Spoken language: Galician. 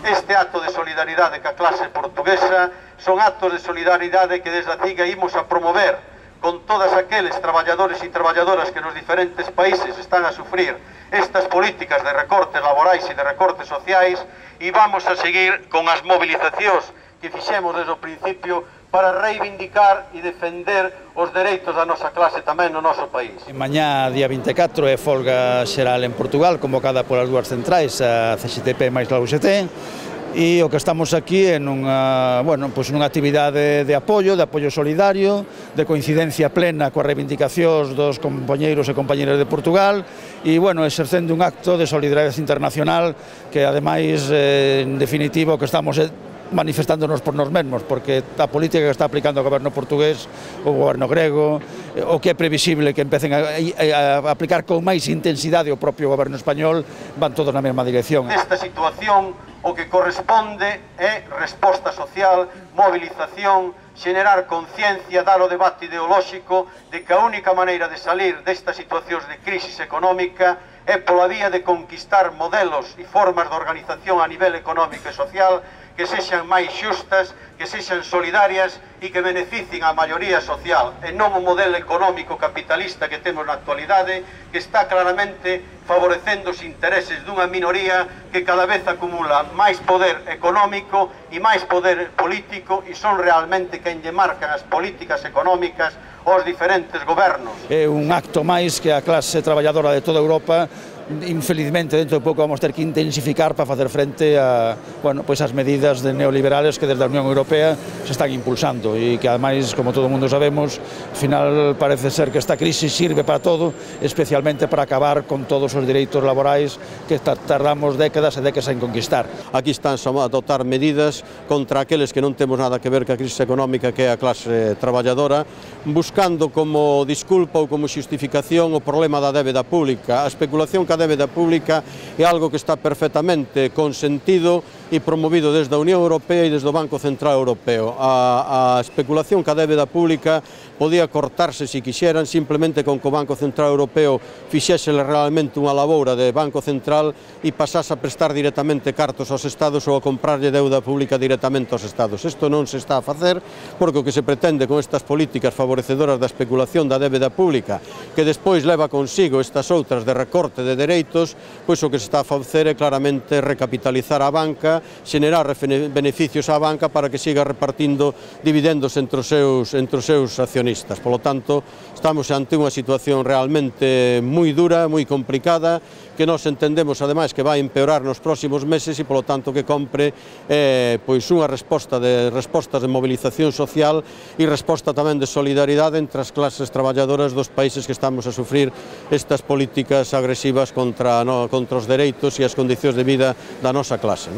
Este acto de solidaridade ca clase portuguesa son actos de solidaridade que desde a CIGA imos a promover con todas aqueles traballadores e traballadoras que nos diferentes países están a sufrir estas políticas de recortes laborais e de recortes sociais, e vamos a seguir con as movilizacións que fixemos desde o principio para reivindicar e defender os dereitos da nosa clase tamén no noso país. Mañá, día 24, é folga xeral en Portugal, convocada polas dúas centrais, a CXTP máis a UGT, e o que estamos aquí é nunha actividade de apoio solidario, de coincidencia plena coas reivindicacións dos compañeiros e compañeras de Portugal, e, exercendo un acto de solidaridade internacional que, ademais, en definitiva, o que estamos manifestándonos por nos mesmos, porque a política que está aplicando o goberno portugués, o goberno grego, o que é previsible que empecen a aplicar con máis intensidade o propio goberno español, van todos na mesma dirección. Nesta situación, o que corresponde é resposta social, movilización, xenerar conciencia, dar o debate ideolóxico de que a única maneira de salir destas situacións de crisis económica é pola vía de conquistar modelos e formas de organización a nivel económico e social que sexan máis xustas, que sexan solidarias e que beneficien a maioría social, e non o modelo económico capitalista que temos na actualidade, que está claramente favorecendo os intereses dunha minoría que cada vez acumula máis poder económico e máis poder político, e son realmente quen lle marcan as políticas económicas aos diferentes gobernos. É un acto máis que a clase traballadora de toda Europa, infelizmente, dentro de pouco vamos ter que intensificar para facer frente a, as medidas neoliberales que desde a Unión Europea se están impulsando e que, ademais, como todo o mundo sabemos, ao final parece ser que esta crisis sirve para todo, especialmente para acabar con todos os dereitos laborais que tardamos décadas e décadas en conquistar. Aquí están a adoptar medidas contra aqueles que non temos nada que ver ca crisis económica, que é a clase traballadora, buscando como disculpa ou como xustificación o problema da débeda pública. A especulación ca débeda pública é algo que está perfectamente consentido e promovido desde a Unión Europea e desde o Banco Central Europeo. A especulación ca débeda pública podía cortarse, se quixeran, simplemente con que o Banco Central Europeo fixese realmente unha laboura de Banco Central e pasase a prestar directamente cartos aos Estados ou a comprarlle deuda pública directamente aos Estados. Isto non se está a facer, porque o que se pretende con estas políticas favorecedoras da especulación da débeda pública, que despois leva consigo estas outras de recorte de dereitos, pois o que se está a facer é claramente recapitalizar a banca, xenerar beneficios á banca para que siga repartindo dividendos entre os seus accionistas. Por lo tanto, estamos ante unha situación realmente moi dura, moi complicada, que nós entendemos, ademais, que vai empeorar nos próximos meses e, polo tanto, que compre unha respostas de movilización social e resposta tamén de solidaridade entre as clases traballadoras dos países que estamos a sufrir estas políticas agresivas contra os dereitos e as condicións de vida da nosa clase.